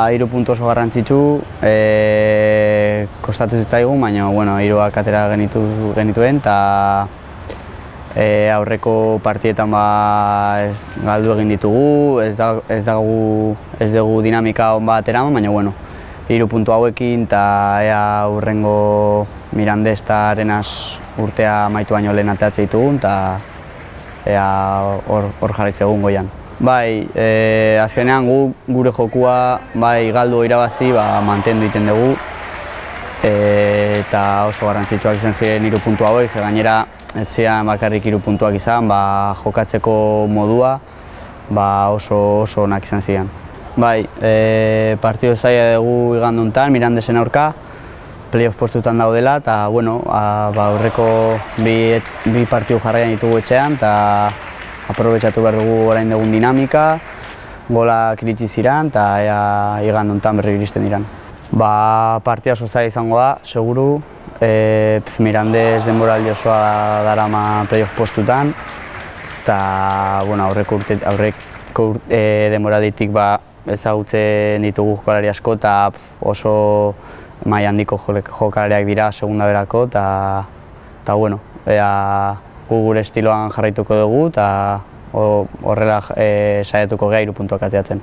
Hiru puntu oso garrantzitsu, kostatu zitzaigun, baina hiruak atera genituen, eta aurreko partietan galdu egin ditugu, ez dugu dinamika on bat eraman, baina hiru puntu hauekin eta ea hurrengo Mirandés eta Arenas urtea amaitu baino lehen ateratzen ditugun, eta ea hor jarraitzen egun goian. Azkenean gure jokua galdu irabazi mantendu egiten dugu, eta oso garrantzitsuak izan ziren hiru puntu hauek, ze gainera ez ziren bakarrik hiru puntuak izan, jokatzeko modua oso onak izan ziren. Partido zaila dugu igande honetan, Mirandesen aurka, playoff postutan daudela, eta aurreko bi partidu jarraian ditugu etxean, eta aprobetxatu behar dugu orain dugun dinamika, golak iritsi ziren, eta igande honetan berri iristen diren. Partida oso zaila izango da, seguru. Mirandés denboraldi osoa darama playoff postutan, eta aurreko denboralditik ezagutzen ditugu jokalari asko, eta oso maila handiko jokalariak dira segunda berako, eta gu gure estiloan jarraituko dugu, eta horrela saiatuko gara 3 puntuak ateratzen.